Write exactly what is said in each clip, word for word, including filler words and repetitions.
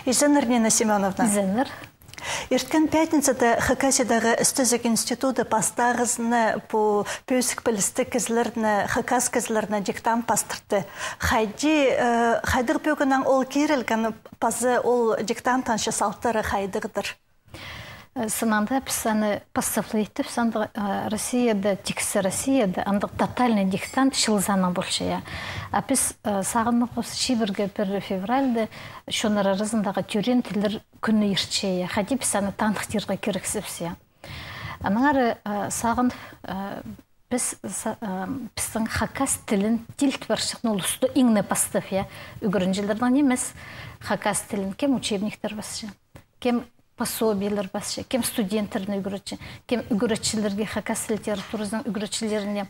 Изеннер, Нина Семёновна. Изеннер. Ирткен пятницада Хакасиядағы істезіг институты пастағызына пу пӧзік пілістіг кізілерні, хакас кізілерні диктант пастырды. Хайди, э, хайдағ пӧгіннең ол кирілген, паза ол диктанттың че салтары хайдағдыр? Э, сынанда піс аны пастап ла иттібіс, андағ, э, Россияда, тиксі Россияда, андағ тотальный диктант чыл саның полча, я. А піс, э, сағынғабыс, чибіргі пір февральда чоннар аразындағы тӧреен тіллер кӱні иртче, я. Хайди піс аны таныхтирға кирексібіс, я. Аннаңар, э, сағын, э, піс са-, э, пістің хакас тілін тилт парчатхан улусты иң не пастап, я, ӱгренҷілернең нимес, хакас тілін кем учебниктер пасча, кем пособиелер пасча, кем студенттерні ӱгретче, кем ӱгретчілерге, хакас литературазының ӱгретчілеріне,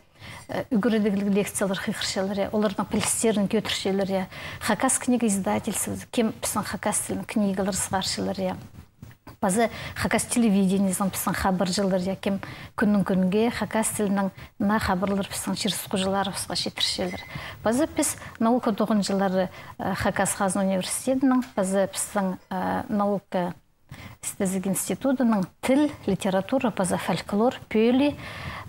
э, ӱгредігліг лекциялар хығырчалар, я, оларның пілістерін кӧдірчелер, я. Хакас книга издательствозы, кем пістің хакас тілінің книгалар сығарчалар, я. Паза хакас телевидениезінің пістің хабарҷылар, я, кем кӱннің кӱнге хакас тілінең наа хабарлар пістің чир-сухтағҷыларыбысха читірчелер. Паза піс наука тоғынҷылары, э, Хакас хазна университедінің, паза пістің, э, наука істезіг институтының тіл, литература паза фольклор пӧлии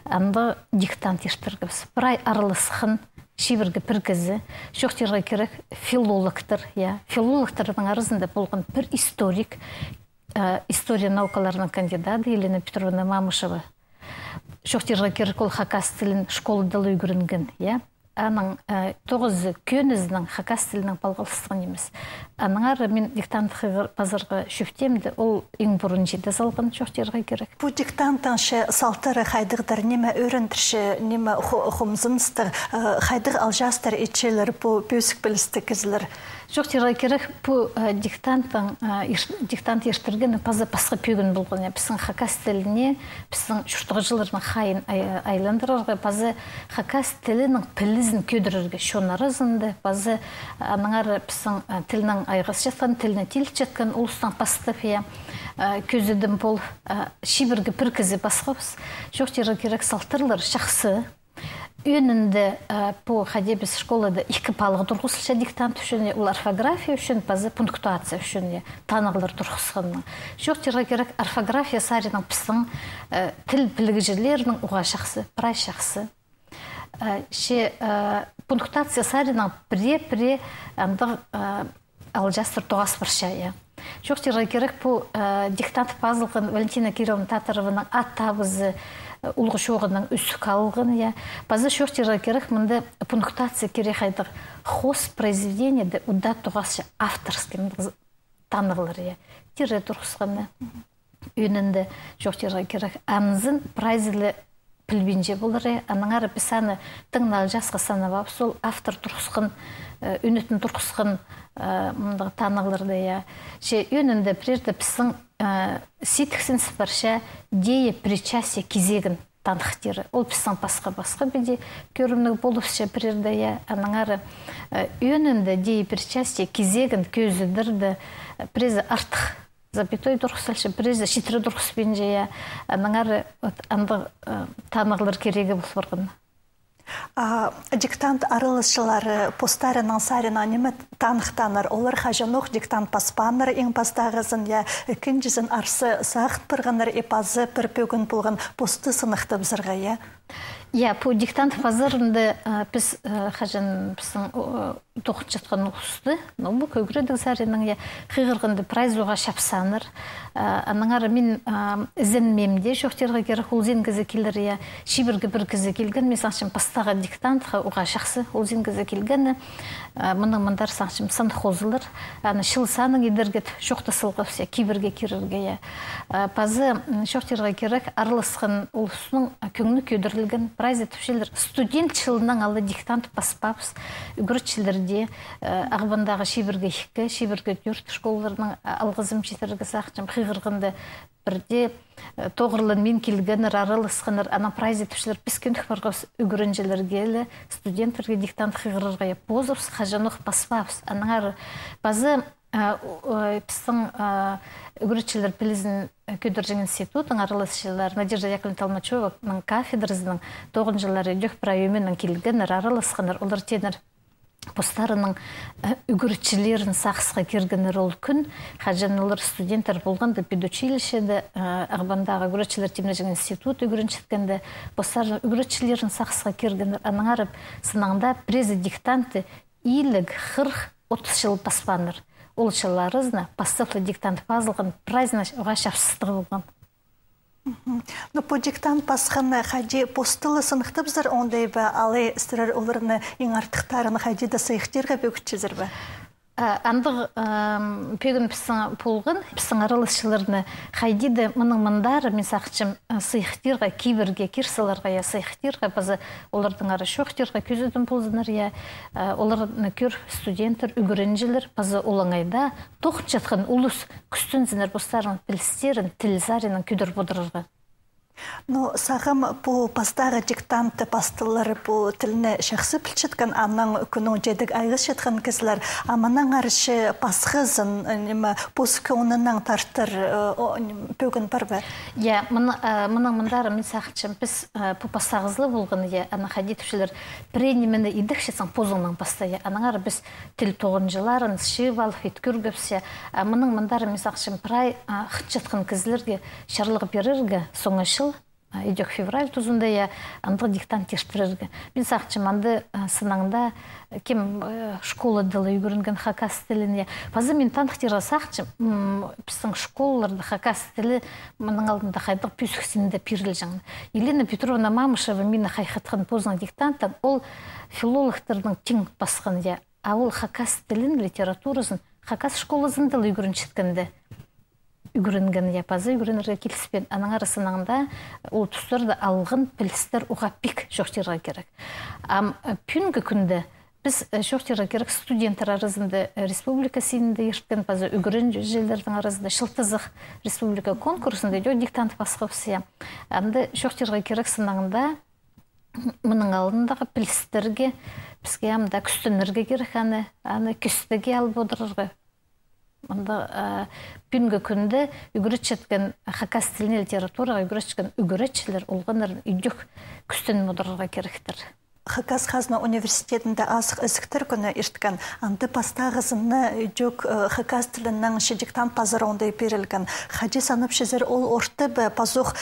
андағ диктант иртіргебіс. Прай араласхан чибіргі пір кізі, чоохтирға кирек, филологтар, я. Филологтарның аразында полған пір историк, э, история наукаларының кандидаты Елена Петровна Мамышева. Чоохтирға кирек, ол хакас тілін школада ла ӱгренген, я. Аның, э, тоғызы кӧнізінең хакас тілінең палғалыстығ нимес. Аннаңар мин диктант хығыр-, пазарға чӧптеем дее, ол иң пурун чиде салған, чоохтирға кирек. Пу диктанттың че салтары хайдағдыр, ниме ӧріндірче, ниме хо-, хомзыныстығ, э, хайдағ алҷаастар итчелер пу пӧзік пілістіг кізілер? Чоохтирға кирек, пу, э, диктанттың, э, ир-, диктант иртіргені паза пасха пӧгін полған, я. Пістің хакас тіліне, пістің чуртағҷыларның хайиин ай-, айландырарға, паза хакас тілінің пілізін кӧдірерге чон аразында, паза, э, аннаңар пістің, э, тілнең айғасчатхан, тілні тилчеткен улустаң пастап, я, э, кӧзідім пол, э, чибіргі пір кізі пасхабыс. Чоохтирға кирек, салтарлар чахсы. Ӧӧнінде, э, пу хайди піс школада ікі палығ турғысча диктант ӱчӱн, ол орфография ӱчӱн, паза пунктуация ӱчӱн, я, танығлар турғысханнаң. Чоохтирға кирек, орфография саринаң пістің, э, тіл пілігҷілернің уғаа чахсы, прай чахсы. Э, че, э, пунктуация саринаң пірее-пірее андағ, э, алҷаастар тоғас парча, я. Чоохтирға кирек, пу, э, диктант пазылған Валентина Кирилловна Татарованың ат табызы, э, улуғ чооғынаң ӱзік алылған, я. Паза чоохтирға кирек, мында пунктуация кирек хайдағ: хоос произведениеде удаа тоғасча авторский, мындағ танығлар, я. Тире турғысханы. Ӧӧнінде чоохтирға кирек, анзын прайзы ла пілбинче полар, я. Аннаңар піс аны тың на алҷаасха санабаабыс, ол автор турғысхан, э, ӱнетін турғысхан, э, мындағ танығларны, я. Че ӧӧнінде пірееде пістің, э, сидіксініп парча деепричастие кизегін таныхтирға. Ол пістің пасха-пасха піди кӧрімніг полыбысча пірееде, я. Аннаңар, э, ӧӧнінде деепричастие кизегін кӧзідерде, э, піреезі артых запятой турғыс салча, піреезі читіре турғыспинча, я. Аннаңар вот андағ, э, танығлар кирегі пол парған. А диктант араласчылары постарының саринаң ниме таныхтааннар? Олар хаҷанох диктант паспааннар, иң пастағызын, я, ікінҷізін арса сағын парғаннар, и паза пір пӧгін полған посты сыныхтабызарға, я? Я, пу диктант пазарында, э, піс, э, хаҷан пістің, о, тоғынчатхан улусты, ну, пу кӧгредіг саринаң, я, хығырғанда прайзы уғаа чапсааннар. Э, аннаңар мин, э, ізенмеем дее, чоохтирға кирек, улзин кізі килер, я, чибіргі пір кізі килген, мин сағынчам, пастағы диктантха уғаа чахсы улзин кізі килгені, э, мының мындар, сағынчам, сан хозылар, аны чыл санын идерге чоохтас салғабыс, я, кибірге кирерге, я. Э, паза, м, чоохтирға кирек, араласхан улустың кӧңні кӧдірілген, прайзы тіпчелер, студент чылынаң ала диктант паспаабыс, ӱгретчілерде, э, Ағбандағы чибіргі ікі, чибіргі тӧрт школаларның, а, алғызым читірерге сағынчам, хығырғанда пірдее, э, тоғырланмин килгеннер, араласханнар, анаң прайзы тіпчелер, піс кӧнік парғабыс ӱгренҷілерге ле, студенттерге диктант хығырарға, я, позыбыс хаҷанох паспаабыс. Аннаңар паза, э, у-, э, пістің, э, ӱгретчілер пілізін, э, кӧдірҷең институттың араласчылары Надежда Яковлевна Толмачёваның кафедразының тоғынҷылары ідӧк прай ӧменең килгеннер, араласханнар, олар тееннер: постарының, э, ӱгретчілерін сағысха киргеннер ол кӱн, хаҷан олар студенттер полғанда педучилищеде, э, Ағбандағы ӱгретчілер тимнеҷең институт ӱгренчеткенде, постарының ӱгретчілерін сағысха киргеннер, аннаңар сынаңда пірезі диктантты илиг, хырых, отыс чыл паспааннар. Ол чыллар аразында пастап ла диктант пазылған, прайзына уғаа чапсыстығ полған. Мгм. Ну, пу диктант пасханы хайди, посты ла сыныхтапчазар оңдай ба, алай сірер оларны иң артыхтарын хайди даа сыйыхтирға пӧгітчезер бе? А, андағ, ам, пӧгін пістің полған, пістің араласчыларны хайди даа мының мындар, мин сағынчам, а, сыйыхтирға, кибірге кир саларға, я, сыйыхтирға, паза оларның ара чоохтирға кӧзідім ползыннар, я, а, оларны кӧр студенттер, ӱгренҷілер, паза олаңай даа тоғынчатхан улус кӱстензіннер постарының пілістерін тіл саринаң кӧдіріп одырарға. Ну, сағам пу пастағы диктантты пастылар, пу тілні чахсы пілчеткен, анаң кӱннің тедік айғасчатхан кізілер, а мынаңар че пасхазын, э, ниме, пос кӧңнінең тартар, э, о, ним, пӧгін пар ба? Я, мын-, э, мының мындар, мин сағынчам, піс, э, пу пастағызы ла полған, я, аны хайди тіпчелер, пірее нимені идекчетсең, позыңнаң паста, я, аннаңар піс тіл тоғынҷыларын чыып алып, ит кӧргебіс, я. А мының мындар, мин сағынчам, прай, а, хынчатхан кізілерге чарлығ пирерге, соңғы чыл, а, идӧк февраль тузында, я, андағ диктант иртірерге. Мин сағынчам, анда, а, сынаңда, кем, э, школада ла ӱгренген хакас тілін, я. Паза мин таныхтирға сағынчам, м, пістің школаларда хакас тілі мының алнында хайдағ пӧзік синде пирілҷең. Елена Петровна Мамышева мині хайхатхан позының диктантын, ол филологтарның тиң пасхан, я. А ол хакас тілін, литературазын хакас школазында ла ӱгренчеткенде ӱгренген, я, паза ӱгренерге киліспеен. Аннаңар сынаңда ол тустарда алған пілістер уғаа пик, чоохтирға кирек. Ам, э, пӱӱнгі кӱнде піс, э, чоохтирға кирек, студенттер аразында, э, республика синінде ирткен, паза ӱгренҷілернің аразында чылтызых республика конкурсында идӧк диктант пасхабыс, я. Анда чоохтирға кирек сынаңда, мының алнындағы пілістерге, піске ам даа кӱстенерге кирек аны, аны кӧстеге алып одырарға. Мында, а, пӱӱнгі кӱнде ӱгретчеткен, хакас тіліне, литератураға ӱгретчеткен ӱгретчілер олғаннарын идӧк кӱстеніп одырарға киректер. Хакас хазна университетінде Азых ізіктер кӱні ирткен, анда пастағызына идӧк, э, хакас тілінең че диктант пазар оңдай пирілген. Хайди санапчазар, ол орта ба, пазох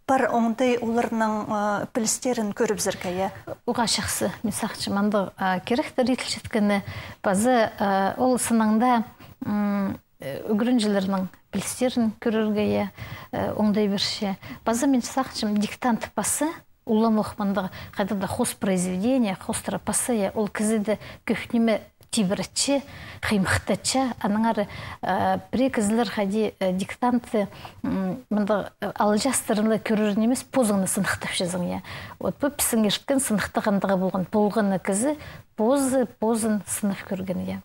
пар оңдай оларның, э, пілістерін кӧрібізерге, я? Уғаа чахсы, мин сағынчам, андағ, э, киректер иділчеткені, паза, э, ол сынаңда, м, э, ӱгренҷілернің пілістерін кӧрерге, я, э, оңдай пирче. Паза мин сағынчам, диктант паза, уламох мындағ хайдағ-да хоос произведение, хоостыра паза, я, ол кізіде кӧп ниме тибіретче, хыймыхтатча, аннаңар, э, пірее кізілер хайди, э, диктантты, м, мындағ, э, алҷаастарын ла кӧрер нимес, позыңны сыныхтапчазың, я. Вот пу пістің ирткен сыныхтағ андағ полған, полған на кізі позы, позын сынап кӧрген, я.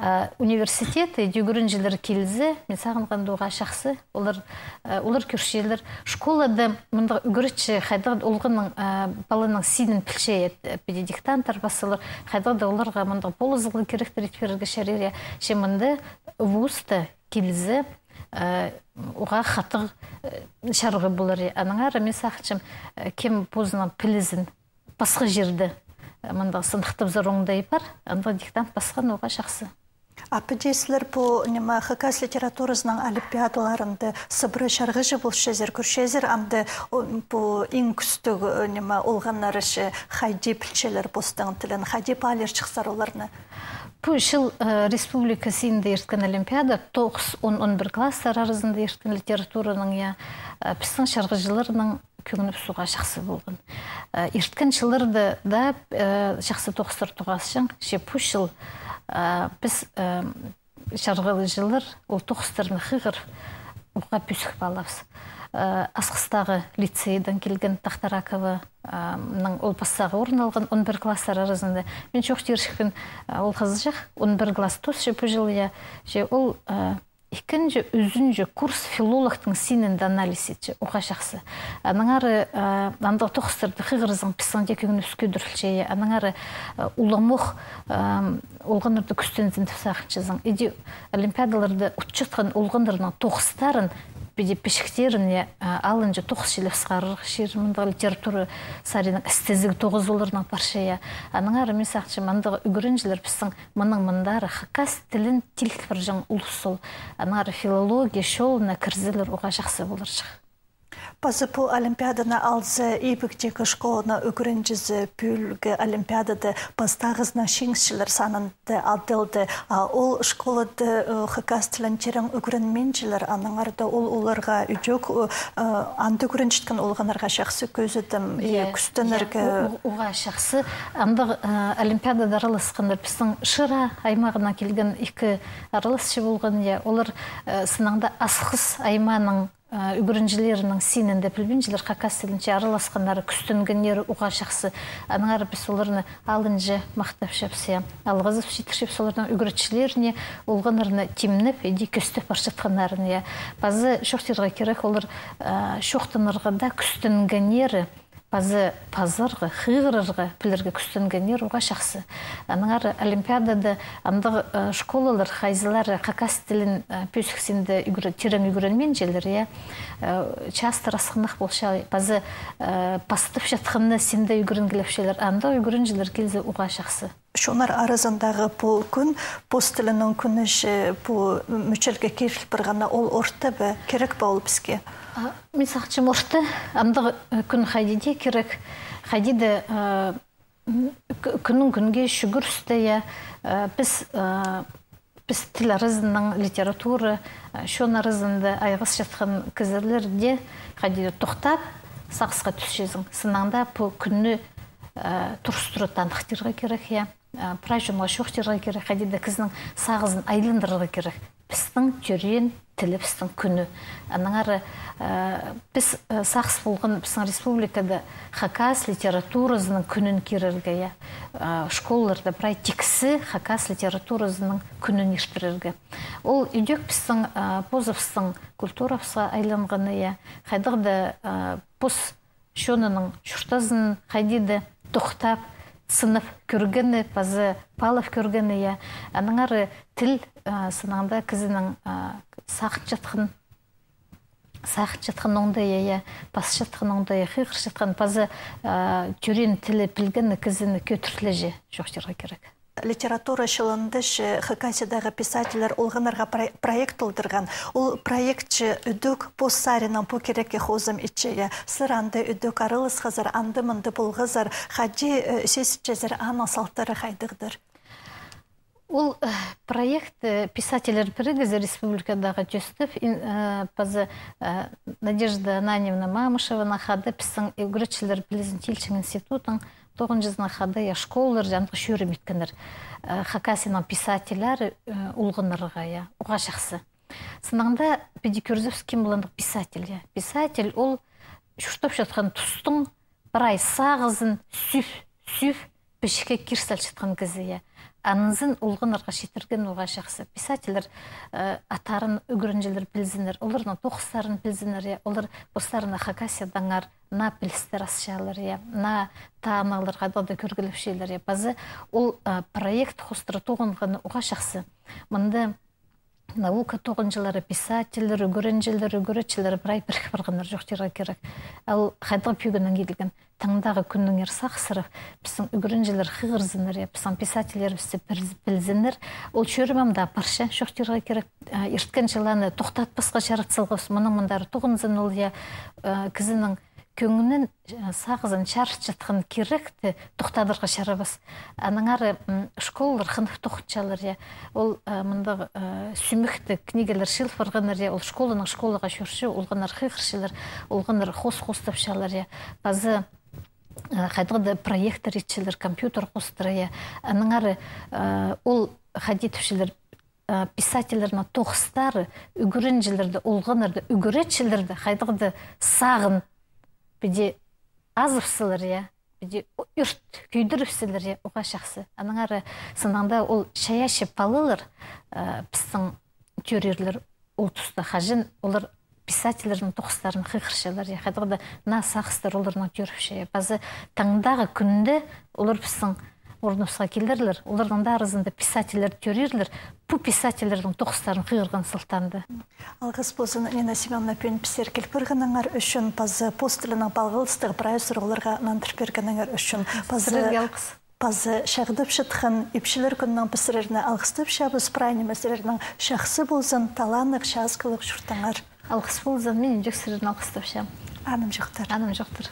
Э, университетте ӱгренҷілер килзе, мин сағынғанда, уғаа чахсы. Олар, э, олар кӧрчелер. Школада мындағ ӱгретчі хайдағ олғанның, э, паланың синін пілче, э, піди диктанттар пасса, олар хайдағ-да оларға мындағ полызығлығ киректер ит пирерге чарир, я. Че мында вузта килзе, э, уғаа хатығ, э, чарғы полар, я. Аннаңар мин сағынчам, э, кем позының пілізін пасха чирде, э, мындағ сыныхтабызар оңдай пар, анда диктант пасхан уғаа чахсы. А піди сірер пу, ниме, хакас литературазының олимпиадаларында сыбыра чарғыҷы полчазар, кӧрчезер, анда, о, пу иң кӱстіг, э, ниме, олғаннар че хайди пілчелер постың тілін, хайди паалирҷыхсар оларны? Пу чыл, э, республика синінде ирткен олимпиада, тоғыс, он, он пір класстар аразында ирткен литератураның, я, э, пістің чарғыҷыларның кӧңнібіс уғаа чахсы полған. Э, ирткен чылларда даа, э, чахсы тоғыстар тоғасчаң, че пу чыл, э, піс, э, чарғыҷылар ол тоғыстарны хығырып, уғаа пӧзік паалабыс. Э, Асхыстағы лицейдең килген Тахтаракова, э, ның ол пастағы орын алған он пір класстар аразында. Мин чоохтирҷыхпын, э, ол хызыҷах, он пір класс тоосча пу чыл, я, че ол, э, ікінҷі, ӱзінҷі курс филологтың синінде анализ итче, уғаа чахсы. Аннаңар, э, андағ тоғыстарны хығырзаң, пістің дее кӧңнібіс кӧдірілче, аннаңар, э, уламох, э, олғаннарны кӱстензін тіп сағынчазың. Иди олимпиадаларда утчатхан олғаннарның тоғыстарын піди пічіктерін, я, а, алынҷа тоғыс чіли сығарарға чир, мындағ литература саринаң істезіг тоғыс оларның парча, я. Аннаңар мин сағынчам, андағ ӱгренҷілер пістің мының мындар хакас тілін тиліг парҷаң улус ол. Аннаңар филология чолына кірзелер, уғаа чахсы поларҷых. Пазы пу олимпиаданы алза, ибгідегі школаның ӱгренҷізі пӱӱлгі олимпиадада пастағызынаң чиңісчілер санында адалды. А ол школада, э, хакас тілін тирең ӱгренминчелер, аннаңар даа ол оларға ідӧк, э, анда ӱгренчеткен олғаннарға чахсы кӧзідім, и кӱстенерге. Я, у-, у-, уғаа чахсы. Андағ, э, олимпиадада араласханнар пістің Шира аймағынаң килген ікі араласчы полған, я, олар, э, сынаңда Асхыс аймааның э, ӱгренҷілерінің синінде пілбинчелер, хакас тілінҷе араласханнары, кӱстенгеннері уғаа чахсы. Аннаңар піс оларны алынҷа махтапчабыс, я. Алғызып читірчебіс оларның ӱгретчілеріне, олғаннарны тимнеп, иди кӧстеп парчатханнарын, я. Пазы чоохтирға кирек, олар, э, чоохтанарға даа кӱстенгеннері, пазы пазарға, хығырарға пілерге кӱстенгеннер уғаа чахсы. Аннаңар олимпиадада андағ, э, школалар, хайзылары хакас тілін, э, пӧзік синде ӱгре-, тирең ӱгренминчелер, я, э, частыра асхынах полча, пазы, э, пастапчатханны синде ӱгренгілепчелер, андағ ӱгренҷілер килзе уғаа чахсы. Чоннар аразындағы пу кӱн, пос тілінің кӱні чи, пу мӱчелге киріл парғаны, ол орта ба, кирек па ол піске? А, мин сағынчам, орта, андағ, э, кӱн хайди даа кирек, хайди даа, э, м, кӱ-, кӱннің кӱнге чӱгӱрісте, я, э, піс, э, піс тіл аразынаң, литература, э, чон аразында айғасчатхан кізілер дее хайди даа тохтап, сағысха тӱсчезің. Сынаңда пу кӱнні, э, турыстыра таныхтирға кирек, я. Э, прай чонға чоохтирға кирек, хайди даа кізінің сағызын айландырарға кирек. Пістің тӧреен тілібістің кӱні. Аннаңар, э, піс, э, сағыс полған пістің республикада хакас литературазының кӱнін кирерге, я. Э, школаларда прай тиксі хакас литературазының кӱнін иртірерге. Ол ідӧк пістің, э, позыбыстың культурабысха айланғаны, я. Хайдағ даа, э, пос чонының чуртазын хайди даа тохтап, сынап кӧргені, пазы паалап кӧргені, я. Аннаңар тіл, а, сынаңда кізінің, а, сағынчатхан, сағынчатхан оңдайы, я, пасчатхан оңдайы, хығырчатхан, пазы, а, тӧреен тілі пілгені кізіні кӧдіртлеҷе, чоохтирға кирек. Литература чылында чи Хакасиядағы писательлер олғаннарға про-, проект толдырған. Ол проект чи ідӧк пос саринаң пу кирекке хозым итче, я. Сірер анда ідӧк араласхазар, анда-мында полғазар, хайди, э, сизінчезер, аның салтары хайдағдыр? Ол, э, проект, э, писательлер пірігізі республикадағы тӧстеп, ин-, э, пазы, э, Надежда Ананьевна Мамышеваның хада, пістің ӱгретчілер пілізін тилчең институтының тоғынҷызының хада, я, школаларҷа андағ чӧрім иткеннер. Э, Хакасияның писательлері, э, олғаннарға, я, уғаа чахсы. Сынаңда піди кӧрзебіс, кем полғандығ писатель, я. Писатель ол чуртапчатхан тустың прай сағызын сӱп, сӱп, пічікке кир салчатхан кізі, я. Анзын олғаннарға читірген уғаа чахсы. Писательлер, э, аттарын ӱгренҷілер пілзіннер, оларның тоғыстарын пілзіннер, я. Олар постарына Хакасиядаңар наа пілістер асчалар, я, наа танығлар хайдағ-да кӧргілепчелер, я. Пазы ол, а, проект хоостыра тоғынғаны уғаа чахсы. Мында наука тоғынҷылары, писательлер, ӱгренҷілер, ӱгретчілер прай пірік парғаннар, чоохтирға кирек. Ол хайдағ пӱӱннең иділген. Таңдағы кӱннеңер сағыссырап, пістің ӱгренҷілер хығырзыннар, я, пістің писательлерібісті піл-, пілзіннер. Ол чӧрім ам даа парча, чоохтирға кирек. А, ирткен чыл аны тохтатпасха чарат салғабыс, мының мындар тоғынзын ол, я, а, кізінің кӧңнін, э, сағызын чарытчатхан киректі тохтадарға чарабас. Аннаңар, м, школалар хынып тоғынчалар, я. Ол, э, мындағ, э, сӱмекті книгалар чыыл парғаннар, я. Ол школанаң школаға чӧрче, олғаннар хығырчалар, олғаннар хоос хоостапчалар, я. Пазы, э, хайдағ-да проектор итчелер, компьютер хоостыра, я. Аннаңар, э, ол хайди тіпчелер, э, писательлернің тоғыстары ӱгренҷілерді, олғаннарды, ӱгретчілерді хайдағ-да сағын піди азып салар, я, піди ӱрт кӧдіріп салар, я, уғаа чахсы. Аннаңар сынаңда ол чайаачы палалар, э, пістің тӧреерлер ол туста хаҷан олар писательлернің тоғыстарын хығырчалар, я, хайдағ-да наа сағыстар оларның тӧріпче, я. Пазы таңдағы кӱнде олар пістің орныбысха килерлер. Оларның да аразында писательлер тӧреерлер. Пу писательлернің тоғыстарын хығырған сылтаанда. Алғыс ползын, Нина Семёновна, пӱӱн пістерге киліп пиргеніңер ӱчӱн, паза пос тілінең палғалыстығ прай сурығларға нандырып пиргеніңер ӱчӱн. Паза сірерге алғыс. Паза чағдап чатхан ипчілер кӱнінең піс сірерні алғыстапчабыс, прай ниме сірернің чахсы ползын, таланнығ, часкалығ чуртаңар. Алғыс ползын, мин ӱнҷек сірерні алғыстапчам. Анымҷохтар. Анымҷохтар.